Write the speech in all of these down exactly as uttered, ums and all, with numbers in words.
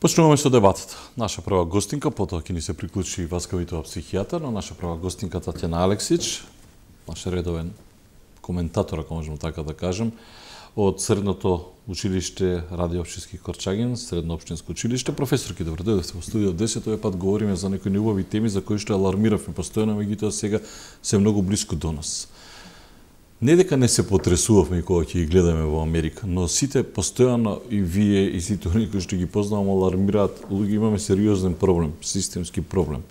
Почнуваме со дебатата. Наша прва гостинка, потоа ќе ни се приклучи Васка Витова, психијатар, но наша прва гостинка Татјана Алексич, наш редовен коментатор, ако можеме така да кажем, од Средното училиште Раде Општински Корчагин, Средно општинско училиште. Професорки, добро дојдовте во студио десет. Овој пат говориме за некои неубави теми за кои што алармиравме постојано, меѓутоа сега се многу блиску до нас. Не дека не се потресувавме кога ќе ги гледаме во Америка, но сите постојано и вие и сите оние кои што ги познавам алармираат, луѓе имаме сериозен проблем, системски проблем,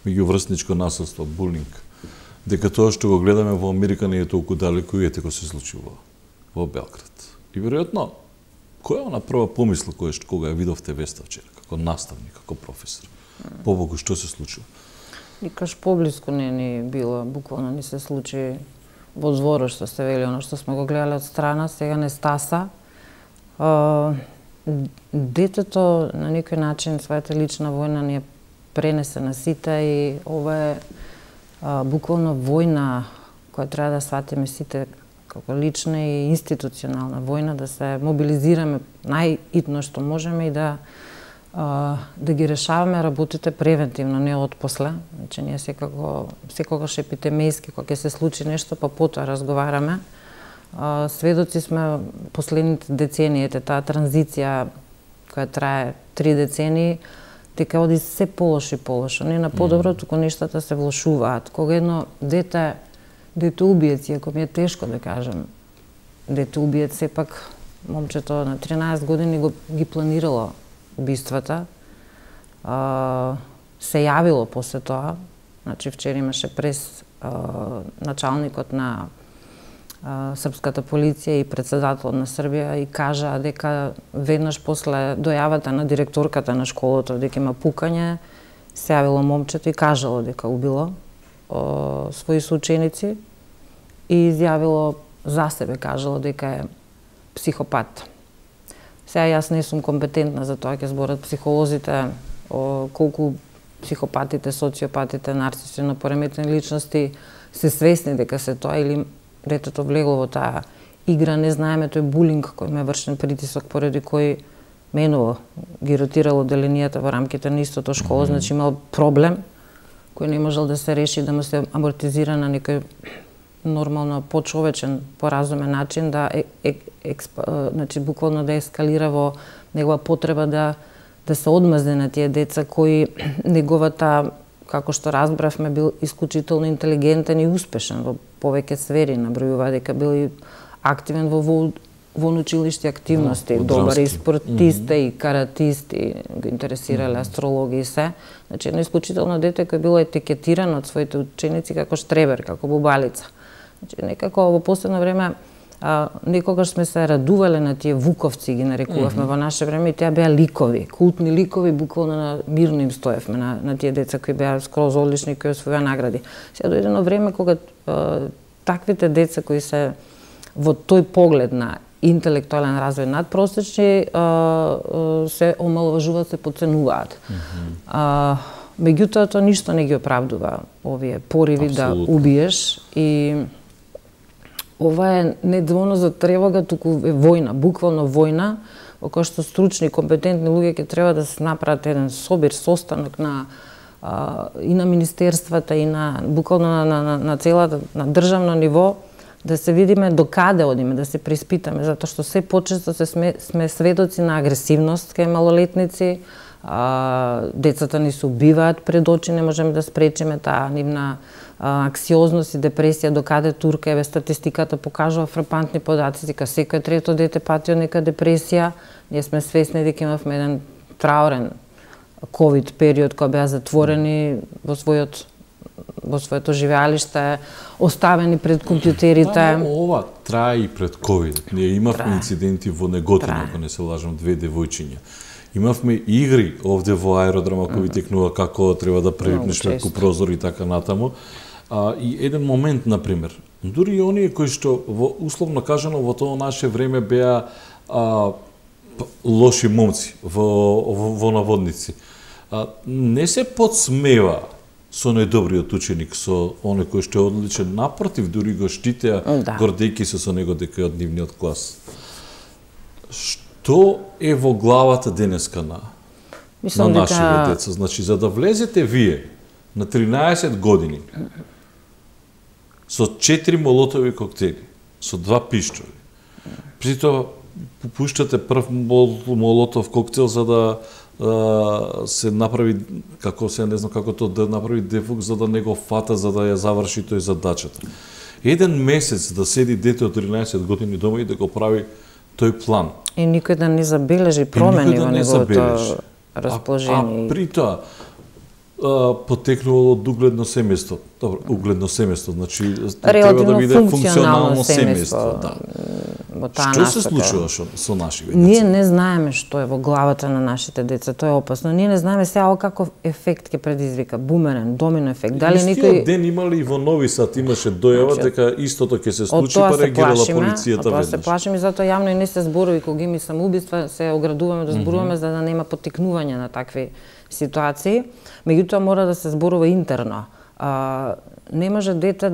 меѓуврсничко насилство, булинг. Дека тоа што го гледаме во Америка не е толку далеку и ете кој се случува во Белград. И веројатно, која е она прва помисла која што кога ја видовте веста вчера, како наставник, како професор? Побогу што се случува? Никаш поблиску не ни било, буквално ни се случи во зборо што сте вели, оно што сме го гледале од страна, сега не стаса. А, детето на некој начин својата лична војна ни е пренесе на сите и ова е а, буквално војна која треба да сватиме сите како лична и институционална војна, да се мобилизираме најитно што можеме и да Uh, да ги решаваме работите превентивно, не од после. Значи, ние секако, секогаш епитемијски, кога ќе се случи нешто, па потоа разговараме. Uh, сведоци сме последните децениите, таа транзиција која трае три децении, дека оди се полошо и полошо. Не на подобро, туку нештата се влошуваат. Кога едно дете, дете убиец, иако ми е тешко да кажем, дете убиец, сепак момчето на тринаесет години го, ги планирало убиствата, а, се јавило после тоа. Значи, вчера имаше прес а, началникот на а, српската полиција и председателот на Србија и кажа дека веднаш после дојавата на директорката на школата дека има пукање, се јавило момчето и кажало дека убило а, своји соученици и изјавило за себе, кажало дека е психопат. Сега јас не сум компетентна за тоа, ќе зборат психолозите о колку психопатите, социопатите, нарциси на пореметени личности се свесни дека се тоа или детето влегло во таа игра, не знаеме, тој булинг кој ме вршен притисок поради кој менува ги ротирало деленијата во рамките на истото школа, mm -hmm. значи имал проблем кој не можел да се реши, да му се амортизира на некој нормално, почовечен, поразумен начин, да е, е, експ, значи, буквално да ескалира во негова потреба да, да се одмазне на тие деца кои неговата, како што разбравме, бил исклучително интелигентен и успешен во повеќе сфери, набројува дека бил и активен во, во, во училишти активности, да, добар и спортиста, mm -hmm. и каратист, и го интересирале mm -hmm. астрологија и се. Значи, едно исклучително дете кој било етикетирано од своите ученици како штребер, како бубалица. Значи, некако во последно време а, некогаш сме се радувале на тие вуковци, ги нарекувавме mm -hmm. во наше време, и тие беа ликови, култни ликови, буквално на мирно им стоевме на, на тие деца кои беа скроз одлични, кои освоја награди. Сега дојде едно време кога а, таквите деца кои се во тој поглед на интелектуален развој надпросечни а, а, се омалважуваат, се подценуваат. Mm -hmm. а, меѓутоа, тоа ништо не ги оправдува овие пориви Абсолютно. Да убиеш и ова е не доволно за тревога, туку е војна, буквално војна, во која што стручни, компетентни луѓе ќе треба да се направат еден собир, состанок на а, и на министерствата и на буквално на, на, на, на целата на државно ниво, да се видиме до каде одиме, да се приспитаме, затоа што се почесто се сме, сме сведоци на агресивност кај малолетници, а, децата ни се убиваат пред очи, не можеме да спречиме таа нивна аксиозност и депресија, до каде турка, еве статистиката покажува фрапантни податци, дека секој трето дете пати од нека депресија. Ние сме свесни дека имавме еден траурен ковид период кога беа затворени во својот во своето живеалиште, оставени пред компјутерите. Да, ова трае и пред ковид. Ние имавме трае. инциденти во Неготино, ако не се лажам, две девојчиња. Имавме игри овде во аеродром, ако ви текнува како треба да прелипнеш преку прозор и така натаму. А, и еден момент, например, дури и оние кои што, во, условно кажано, во тоа наше време беа а, лоши момци, во, во, во наводници, а, не се подсмева со најдобриот ученик, со оној кој што е одличен, напротив, дури го штитеа, да. гордејки се со него дека е од нивниот клас. Што е во главата денеска на на нашите дека... деца. Значи, за да влезете вие на тринаесет години со четири молотови коктели, со два пиштоли, при тоа пушtate прв молотов коктел за да а, се направи, како се не знам како тоа да направи дефук за да не го фата, за да ја заврши тој задачата. Еден месец да седи дете од тринаесет години дома и да го прави тој план. И никој да не забележи промени во неговото расположение. А, а при тоа потекнувало од угледно семејство. Добро, угледно семејство, значи треба да биде функционално семејство, да. Што се случува шо, со нашите деца? Ние не знаеме што е во главата на нашите деца, тоа е опасно. Ние не знаеме сега каков ефект ќе предизвика, бумерен, домино ефект. Дали Истиот некој ден имали и во Нови Сад имаше дојава дека истото ќе се случи, па реагирала полицијата веднаш. Тоа се плашиме, затоа јавно и не се зборови кога има самоубиства, се оградуваме да зборуваме mm -hmm. за да нема поттикнување на такви ситуации. Меѓутоа мора да се зборува интерно. А, не може дете,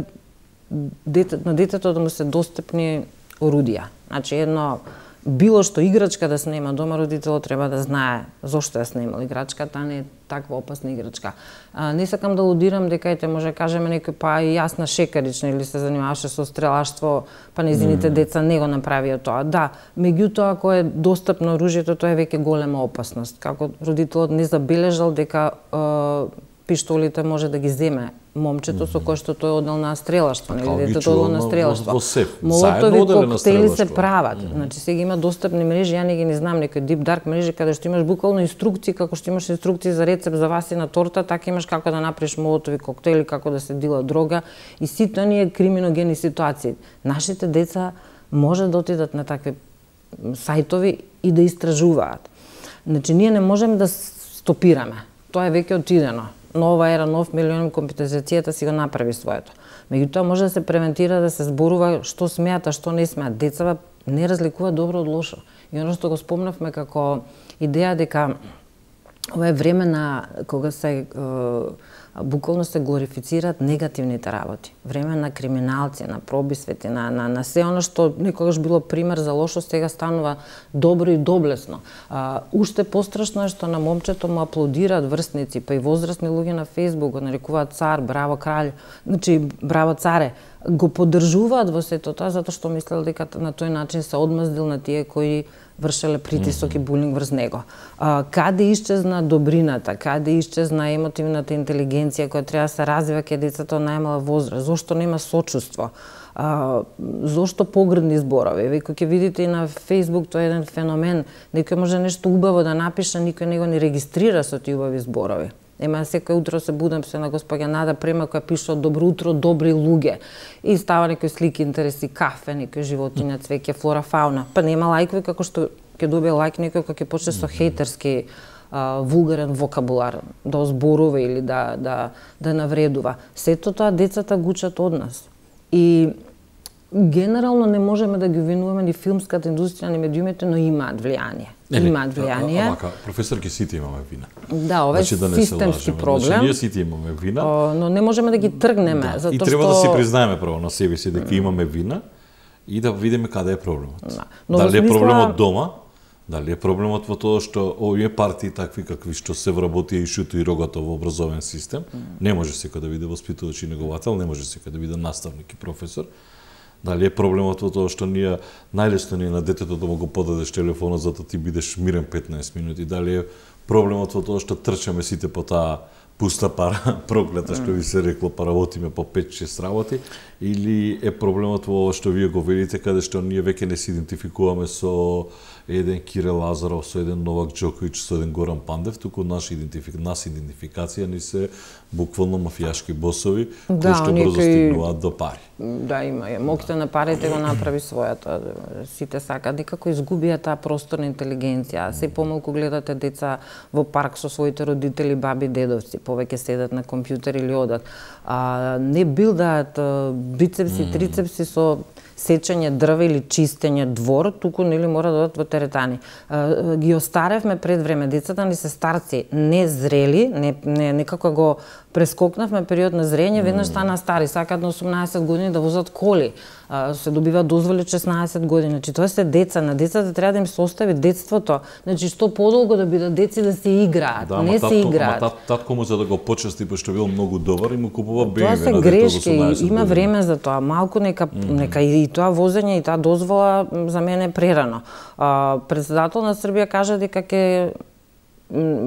дете, на детето да му се достапни орудија. Значи едно било што играчка да снема дома, родителот треба да знае зошто ја снемал играчката, а не таква опасна играчка. А, не сакам да лудирам дека ете може кажеме некој па и јас на шекарична или се занимаваше со стрелаштво, па незините mm. деца не го направија тоа. Да, меѓутоа ако е достапно оружјето, тоа е веќе голема опасност. Како родителот не забележал дека е, пиштолите може да ги земе момчето со кое што тој одел на стрелаштво, нели детето одело на стрелаштво. Молотови коктели се прават. Mm. Значи сега има достапни мрежи, ја не ги не знам некои deep dark мрежи каде што имаш буквално инструкции, како што имаш инструкции за рецепт за васина торта, така имаш како да направиш молотови коктели, како да се дила дрога и сите оние криминогени ситуации. Нашите деца може да отидат на такви сајтови и да истражуваат. Значи ние не можеме да стопираме. Тоа е веќе отидено. Нова ера, нов милион, компјутеризацијата си го направи своето. Меѓутоа може да се превентира, да се зборува што смеат, а што не смеат. Децата не разликуваат добро од лошо. И оно што го спомнавме како идеја дека ова е време на кога се е, буквално се глорифицираат негативните работи. Време на криминалци, на пробисвети, на, на, на се оно што некогаш било пример за лошо, сега станува добро и доблесно. А, уште пострашно е што на момчето му аплодираат врсници, па и возрастни луѓе на Фејсбук го нарекуваат цар, браво кралј, значи браво царе. Го поддржуваат во сето тоа затоа што мислел дека на тој начин се одмаздил на тие кои вршеле притисок и булинг врз него. А, каде исчезна добрината, каде исчезна емотивната интелигенција која треба да се развива кај децата од најмала возраст? Зошто нема сочувство? А, зошто погрдни зборови? Вие кога ќе видите и на Фејсбук, тоа е еден феномен, некој може нешто убаво да напише, никој него не регистрира со тие убави зборови. Ема секој утро се будам се на госпоѓа Нада Према која пише добро утро, добри луѓе. И става некои слики, интереси, кафе, некои животиња, цвеќе, флора, фауна. Па нема лајкови како што ќе добие лајк некој кога ќе почне со хејтерски а, вулгарен вокабулар, да озборува или да да да навредува. Сето тоа децата го учат од нас. И генерално не можеме да ги обвинуваме ни филмската индустрија, ни медиумите, но имаат влијание. Не, не, имаат влијание. Амака, професорки сите имаме вина. Да, ова е значи, да системски проблем. Значи, ние сите имаме вина. О, но не можеме да ги тргнеме, да. затоа и треба што... да си признаеме право на себе си дека имаме вина и да видиме каде е проблемот. Да. Но дали смисла... е проблемот дома, дали е проблемот во тоа што овие партии такви какви што се вработија и шуто и рогато во образовен систем, mm. не може секој да биде воспитувач и неговател, не може секој да биде наставник и професор. Дали е проблемот во тоа што ние најлесно ни на детето да му го подадеш телефонот за да ти бидеш мирен петнаесет минути, дали е проблемот во тоа што трчаме сите по таа пуста пара, проклета што ви се рекло, па работиме по пет-шест работи, или е проблемот во ова што вие го велите, каде што ние веќе не се идентификуваме со еден Кире Лазаров, со еден Новак Џоковиќ, со еден Горан Пандев, туку наш идентифик... нас идентификација ни се буквално мафијашки босови, да, кои што брзо стигнуваат до пари. Да, има е. Моките на парите го направи својата. Сите сакаат, некако изгубија таа просторна интелигенција. Се помалку гледате деца во парк со своите родители, баби, дедовци, повеќе седат на компјутер или одат. А, не билдаат бицепси, трицепси со сечење дрва или чистење двор, туку нели мора да одат во теретани. А, ги остаревме пред време. Децата ни се старци, не зрели, не, не некако го прескокнавме период на зрење, веднаш стана стари, сакаат на осумнаесет години да возат коли. се добива дозволи шеснаесет години. Значи тоа се деца, на децата треба да им се остави детството. Значи што подолго да бидат деци да се играат, да, не татко, се играат. Ама тат, татко му за да го почести пошто бил многу добар и му купува бе ем ви. Тоа се грешки, има време за тоа. Малку нека mm -hmm. нека и, и тоа возење и таа дозвола за мене е прерано. А, председател на Србија кажа дека ќе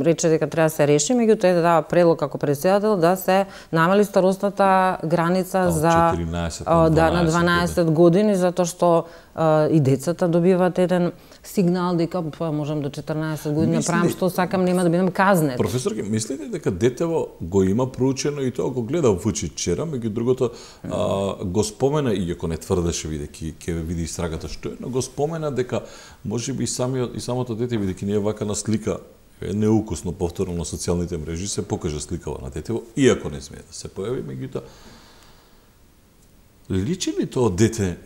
рече дека треба да се реши, меѓутоа е да дава предлог како председател да се намали старосната граница а, за четирнаесет на дванаесет, да, на дванаесет години, затоа што а, и децата добиваат еден сигнал дека па можам до четрнаесет години да правам што сакам, нема да бидам казнет. Професорке, мислите дека детево го има проучено и тоа го гледа во очи вчера, меѓу другото а, го спомена, иако не тврдеше бидејќи ќе види истрагата што е, но го спомена дека можеби и самиот и самото дете бидејќи не е вака на слика е неукусно повторно на социјалните мрежи се покажа сликава на детево, иако не смее да се појави, меѓутоа личи ли тоа дете,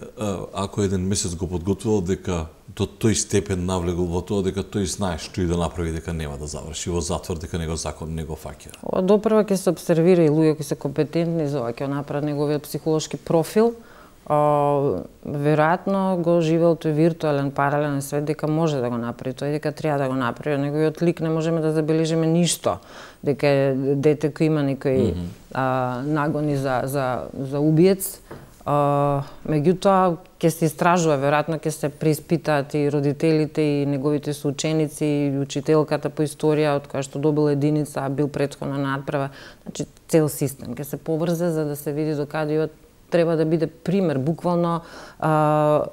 ако еден месец го подготвувал, дека до тој степен навлегол во тоа, дека тој знае што и да направи, дека нема да заврши во затвор, дека него закон не го фаќа? Допрва ќе се обсервира и луѓе кои се компетентни за ова, ќе направат неговиот психолошки профил. Uh, веројатно го живел тој виртуелен паралелен свет дека може да го направи, тој дека треба да го направи. Неговиот лик не можеме да забележиме ништо, дека е дете кој има некои mm -hmm. uh, нагони за за за убиец. Uh, меѓутоа ќе се истражува, веројатно ќе се преиспитаат и родителите и неговите соученици и учителката по историја од која што добил единица, а бил претходно на надправа. Значи цел систем ќе се поврзе за да се види докаде треба да биде пример, буквално а,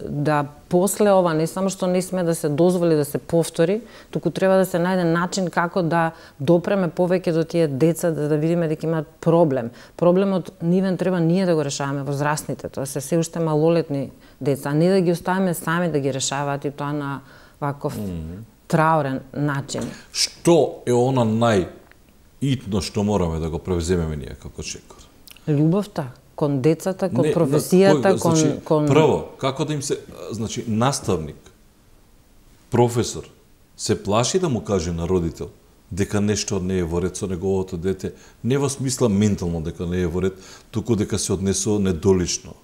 да после ова не само што не сме да се дозволи да се повтори, туку треба да се најде начин како да допреме повеќе до тие деца, да, да видиме дека имаат проблем. Проблемот нивен треба ние да го решаваме, возрастните, тоа се се уште малолетни деца, а не да ги оставиме сами да ги решаваат и тоа на ваков mm -hmm. траурен начин. Што е она најитно што мораме да го превземеме ние како чекор? Љубовта кон децата, кон не, професијата, кој, кон, значи, кон... Прво, како да им се... Значи, наставник, професор, се плаши да му каже на родител дека нешто не е во ред со неговото дете, не во смисла ментално дека не е во ред, туку дека се однесува недолично.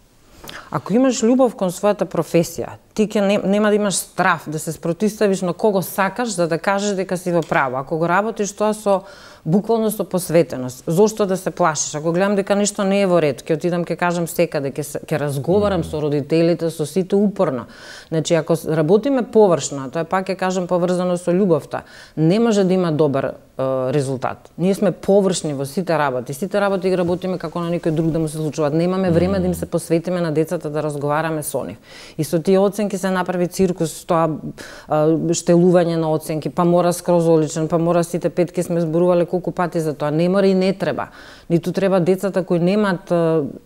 Ако имаш љубов кон својата професија, ти ќе не, нема да имаш страв да се спротиставиш на кого сакаш за да кажеш дека си во право. Ако го работиш тоа со буквално со посветеност, зошто да се плашиш? Ако гледам дека нешто не е во ред, ќе отидам ќе кажам секаде, ќе ќе разговарам mm -hmm. со родителите, со сите упорно. Значи ако работиме површно, тоа пак ќе кажам поврзано со љубовта, не може да има добар е, резултат. Ние сме површни во сите работи. Сите работи ги работиме како на некој друг да му се случуваат. Немаме време mm -hmm. да им се посветиме на децата да разговараме со нив. И со тие оценки се направи циркус, тоа штелување на оценки, па мора скроз оличен, па мора сите петки сме зборувале колку пати за тоа. Не мора и не треба. Ниту треба децата кои немаат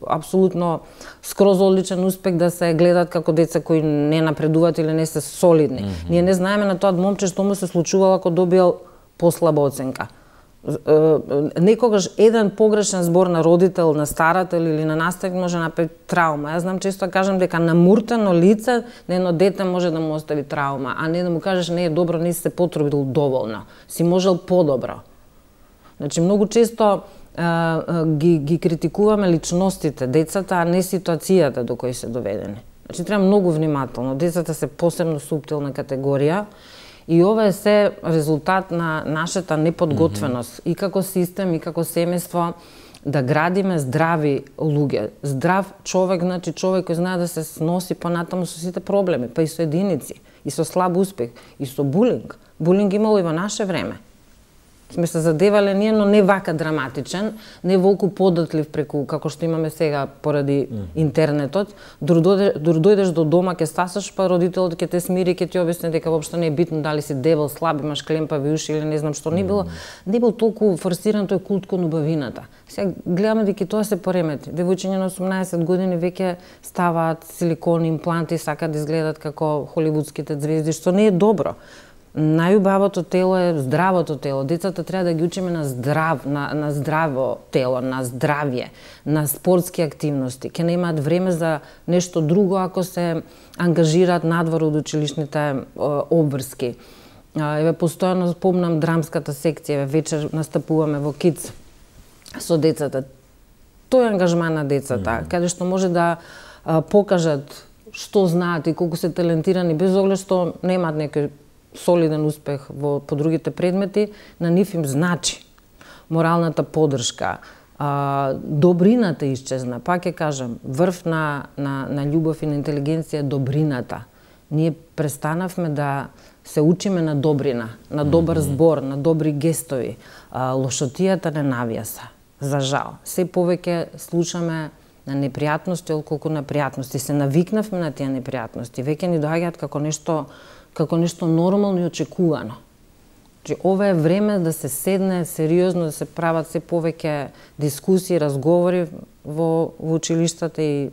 апсолутно скроз одличен успех да се гледат како деца кои не напредуваат или не се солидни. Mm -hmm. Ние не знаеме на тоа момче што му се случувало ако добил послаба оценка. Некогаш еден погрешен збор на родител, на старател или на наставник може да направи траума. Јас знам често кажам дека намуртено лице на едно дете може да му остави траума, а не да му кажеш не е добро, не си се потрудил доволно, си можел подобро. Значи многу често а, а, ги, ги критикуваме личностите, децата, а не ситуацијата до кои се доведени. Значи треба многу внимателно. Децата се посебно суптилна категорија. И ова е се резултат на нашата неподготвеност mm -hmm. и како систем, и како семејство да градиме здрави луѓе. Здрав човек, значи човек кој знае да се сноси понатаму со сите проблеми, па и со единици, и со слаб успех, и со булинг. Булинг имало и во наше време. Сме се задевале ние, но не вака драматичен, не волку податлив преку како што имаме сега поради mm -hmm. интернетот. Дур дојдеш до дома, ќе стасаш, па родителот ќе те смири, ќе ти објасни дека воопшто не е битно дали си дебел, слаб, имаш клемпави уши или не знам што. Не било, не бил толку форсиран тој култ кон убавината. Сега гледаме дека тоа се поремети. Девојчиња на осумнаесет години веќе ставаат силикони импланти, сакаат да изгледат како холивудските звезди, што не е добро. Најубавото тело е здравото тело. Децата треба да ги учиме на здрав, на, на здраво тело, на здравје, на спортски активности. Ке немаат време за нешто друго ако се ангажираат надвор од училишните обврски. Еве постојано спомнам драмската секција, вечер настапуваме во Kids со децата. Тој е ангажман на децата, mm -hmm. каде што може да а, покажат што знаат и колку се талентирани, без оглед што немаат некој солиден успех во по другите предмети, на нив им значи моралната поддршка, а, добрината исчезна. Пак ќе кажам, врв на, на, на љубов и на интелигенција е добрината. Ние престанавме да се учиме на добрина, на добар збор, на добри гестови. А, лошотијата не навјаса, за жал. Се повеќе слушаме на непријатности, отколку на пријатности. Се навикнавме на тие непријатности. Веќе ни доаѓаат како нешто, како нешто нормално и очекувано. Значи, ова е време да се седне сериозно, да се прават се повеќе дискусии, разговори во, во училиштата и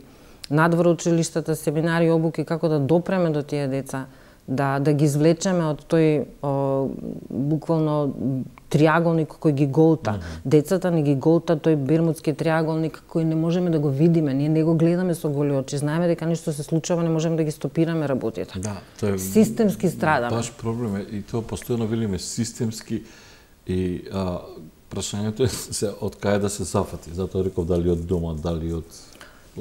надвор училиштата, семинари, обуки, како да допреме до тие деца, да, да ги извлечеме од тој о, буквално триаголник кој ги голта. Mm -hmm. Децата ни ги голта тој бермудски триаголник кој не можеме да го видиме, ние не го гледаме со голи очи, знаеме дека нешто се случува, не можеме да ги стопираме работите. Да, тоа е системски страдаме. Баш проблем е и тоа постојано велиме системски и а, прашањето е се од кај да се зафати. Затоа реков дали од дома, дали од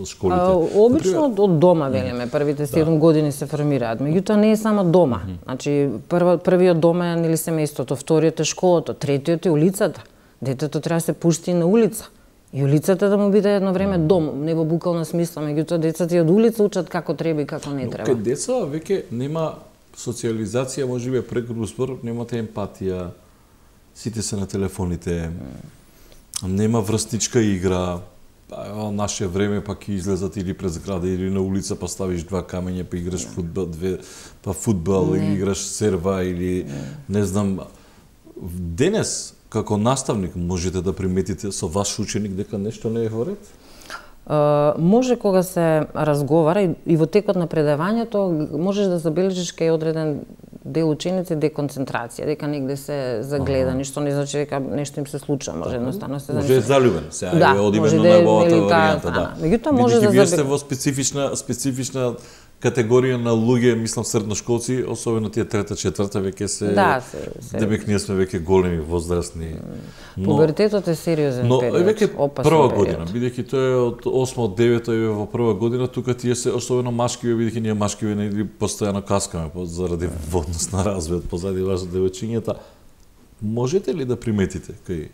школите. А, обично од дома велиме, првите седум да. години се формираат. Меѓутоа не е само дома. Mm -hmm. Значи прва, првиот дом е нели семејството, вториот е школата, третиот е улицата. Детето треба да се пушти на улица. И улицата да му биде едно време дом, не во буквална смисла, меѓутоа децата и од улица учат како треба и како не треба. Но кај деца веќе нема социализација, можеби преку збор, немате емпатија. Сите се на телефоните. Mm. Нема врсничка игра. Во наше време пак ќе излезат или пред зграда или на улица па ставиш два камења па играш фудбал, две па фудбал не. Или играш серва или не, не знам. Денес како наставник можете да приметите со ваш ученик дека нешто не е во ред? Uh, може кога се разговара и, и во текот на предавањето можеш да забележиш кај одреден дел ученици деконцентрација, дека негде се загледа, ага. Ништо не значи дека нешто им се случува, може едноставно се може е залюбен, сега да, е од именно да најубавата варијанта, да. Меѓутоа може да вие сте во специфична специфична категорија на луѓе, мислам средношколци, особено тие трета, четврта веќе се да, се, се. Демек ние сме веќе големи, возрастни. Но пубертетот е сериозен но, период, веќе опасен прва период. година, бидејќи тоа е од осма, од девета е во прва година, тука тие се особено машкиве, бидејќи ние машкиве не постојано каскаме заради водност на развојот, позади вашите девојчињата. Можете ли да приметите кај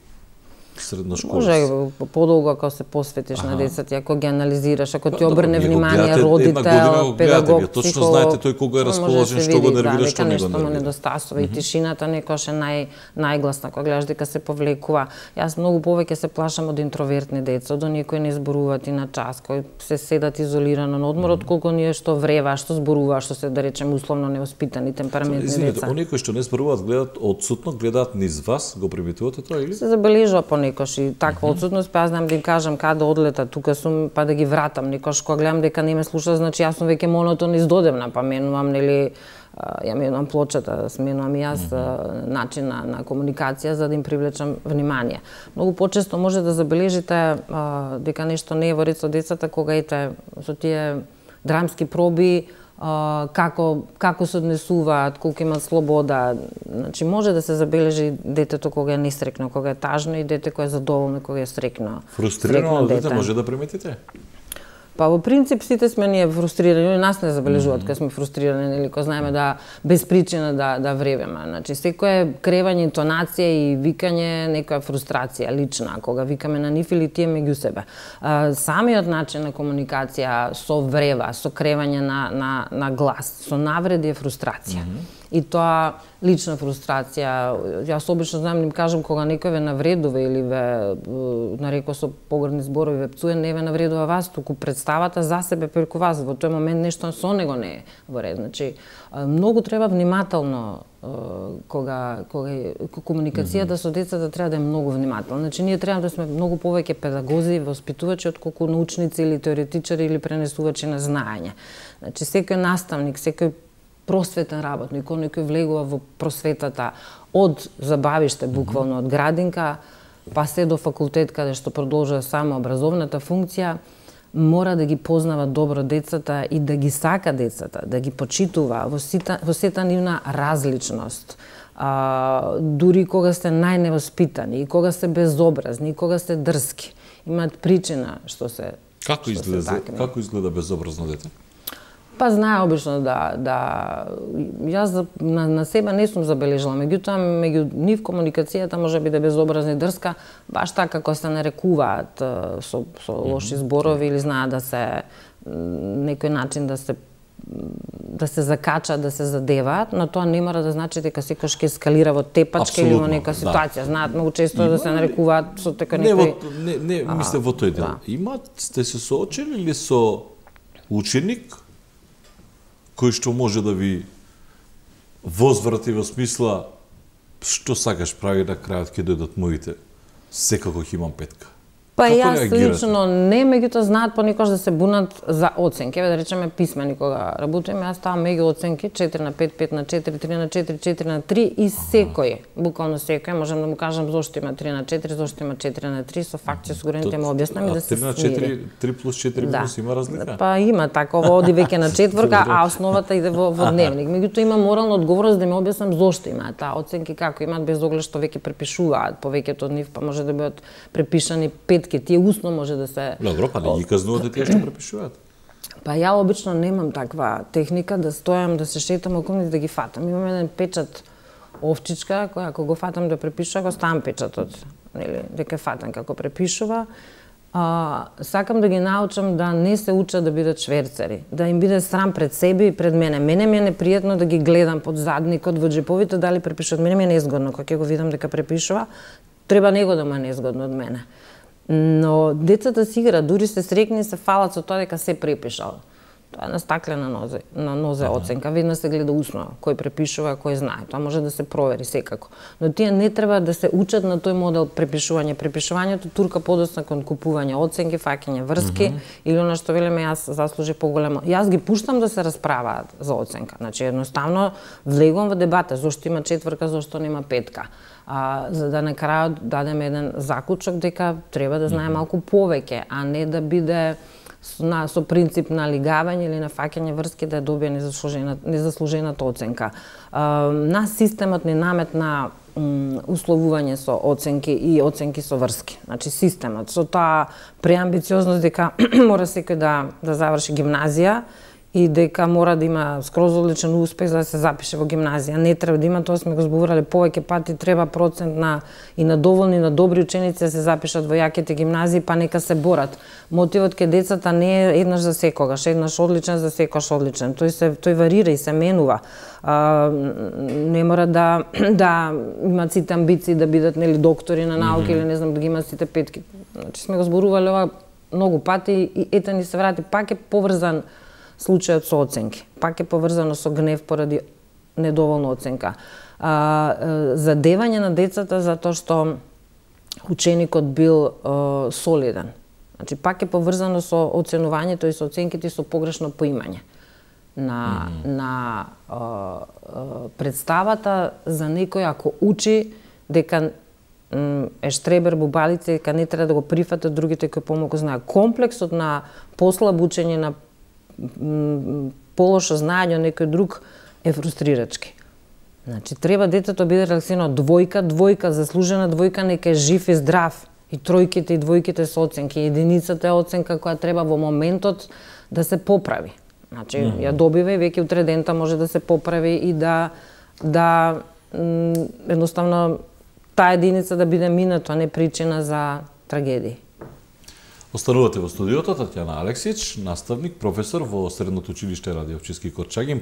средношколци? Може подолго ако се посветиш ага. на децата, ако ги анализираш, ако ти обрне внимание родител, педагог, точно психолог, знаете тој кога е расположен, што го нервира, што не го нервира. Недостасува и тишината некојаш е нај најгласна кога гледаш дека се повлекува. Јас многу повеќе се плашам од интровертни деца, од оние кои не зборуваат и на час, кои се седат изолирано на одмор, отколку оние што врева, што зборува, што се да речем условно невоспитани, темпераментни деца. Оние кои што не зборуваат гледаат одсутно, гледаат низ вас, го приметувате тоа или? Се забележува понекош и таква mm -hmm. одсутност, па јас знам да им кажам каде одлета, тука сум, па да ги вратам. Некош кога гледам дека не ме слуша, значи јас сум веќе монотон издодевна, па менувам, нели, ја менувам плочата, сменувам и јас mm -hmm. начин на, на комуникација за да им привлечам внимание. Многу почесто може да забележите а, дека нешто не е во ред со децата кога ете со тие драмски проби, Uh, како, како се однесуваат, колку имаат слобода. Значи, може да се забележи детето кога е несрекно, кога е тажно и дете кој е задоволно кога е срекно. Фрустрирано дете може да приметите? Па во принцип сите сме ние фрустрирани, нас не забележуваат mm -hmm. кога сме фрустрирани, нели, кога знаеме да без причина да да вревеме. Значи секое кревање, интонација и викање некоја фрустрација лична, кога викаме на нив или тие меѓу себе. А, самиот начин на комуникација со врева, со кревање на на на глас, со навреди е фрустрација. Mm -hmm. И тоа лична фрустрација. Јас обично знам да им кажам кога некој ве навредува или ве нарекува со погрдни зборови ве пцуе, не ве навредува вас, туку представата за себе преку вас. Во тој момент нешто со него не е во ред. Значи, многу треба внимателно кога кога комуникацијата mm -hmm. со децата треба да е многу внимателна. Значи ние треба да сме многу повеќе педагози, воспитувачи отколку научници или теоретичари или пренесувачи на знаење. Значи секој наставник, секој просветен работник, оној кој влегува во просветата од забавиште, буквално од градинка, па се до факултет каде што продолжува само образовната функција, мора да ги познава добро децата и да ги сака децата, да ги почитува во сета, во сета нивна различност. А, дури кога сте најневоспитани, и кога сте безобразни, и кога сте дрски. Имаат причина што се Како изгледа, како изгледа безобразно дете? Па знае обично да да јас на, на себе не сум забележала, меѓутоа меѓу нив комуникацијата може би да е безобразна и дрска, баш така како се нарекуваат со со лоши зборови или знаат да се некој начин да се да се закачат, да се задеваат, но тоа не мора да значи дека секојаш ќе ескалира во тепачка или во нека ситуација. Да. Знаат многу често да се нарекуваат со така некој... Не, не, не мисле во тој дел. Да. Имат, сте се соочили ли со ученик кој што може да ви возврати во смисла што сакаш прави на крајот ќе дојдат моите, секако ќе имам петка. Па јас лично не, меѓутоа знаат понекогаш да се бунат за оценки. Еве да речеме писмени кога работиме, јас ставам меѓу оценки четири на пет, пет на четири, три на четири, четири на три и секој, буквално секој, можам да му кажам зошто има три на четири, зошто има четири на три, со факти со горените му објаснам и да се три на четири, три плюс четири минус има разлика? Па има такова, оди веќе на четворка, а основата иде во, во дневник. Меѓутоа има морална одговорност да ми објаснам зошто имаат таа оценки, како имаат, без оглед што веќе препишуваат, повеќето од нив па може да бидат препишани петки, тие усно може да се... Добро, па не ги казнувате тие што препишуваат? Па ја обично немам таква техника да стојам, да се шетам околу нив да ги фатам. Имам еден печат овчичка, која ако го фатам да препишува, го ставам печатот, нели, дека фатам како препишува. А, сакам да ги научам да не се учат да бидат шверцери, да им биде срам пред себе и пред мене. Мене ми е непријатно да ги гледам под задникот, во џеповите, дали препишуваат. Мене ми е незгодно кога ќе го видам дека препишува, треба него да му е незгодно од мене. Но децата си играат, дури се срекни се фалат со тоа дека се препишал. Тоа е на стаклена нозе, на нозе ага. Оценка, веднаш се гледа усно кој препишува, кој знае. Тоа може да се провери секако. Но тие не треба да се учат на тој модел препишување. Препишувањето турка подоцна кон купување оценки, фаќање врски uh -huh. или она што велеме јас заслужи поголемо. Јас ги пуштам да се расправаат за оценка. Значи едноставно влегувам во дебата зошто има четврка, зошто нема петка. А, за да на крајот дадеме еден заклучок дека треба да знае малку повеќе, а не да биде на, со принцип на лигавање или на фаќање врски да добие незаслужена, незаслужената оценка. А, нас системот не наметна условување со оценки и оценки со врски. Значи системот со таа преамбициозност дека мора секој да да заврши гимназија и дека мора да има скроз одличен успех за да се запише во гимназија. Не треба да има, тоа сме го зборувале повеќе пати, треба процент на и на доволни, на добри ученици да се запишат во јаките гимназии, па нека се борат. Мотивот кај децата не е еднаш за секогаш, еднаш одличен за секогаш одличен. Тој се тој варира и се менува. А, не мора да да имаат сите амбиции да бидат нели доктори на науки mm -hmm. или не знам да ги имаат сите петки. Значи сме го зборувале ова многу пати и ете ни се врати пак е поврзан случајот со оценки. Пак е поврзано со гнев поради недоволна оценка. А, задевање на децата затоа што ученикот бил а, солиден. Значи пак е поврзано со оценувањето и со оценките и со погрешно поимање. На, mm -hmm. на а, а, представата за некој ако учи дека е штребер, бубалица, дека не треба да го прифатат другите кои помалку знаат. Комплексот на послаб учење, на полошо знаење од некој друг е фрустрирачки. Значи, треба детето биде релаксирано. Двојка, двојка, заслужена двојка, нека е жив и здрав. И тројките и двојките со оценки. Единицата е оценка која треба во моментот да се поправи. Значи, mm -hmm. ја добива и веќе утре дента може да се поправи и да, да едноставно таа единица да биде минато, а не причина за трагедии. Останувате во студиото Татјана Алексич, наставник, професор во Средното училиште Раде Овчински Корчагин.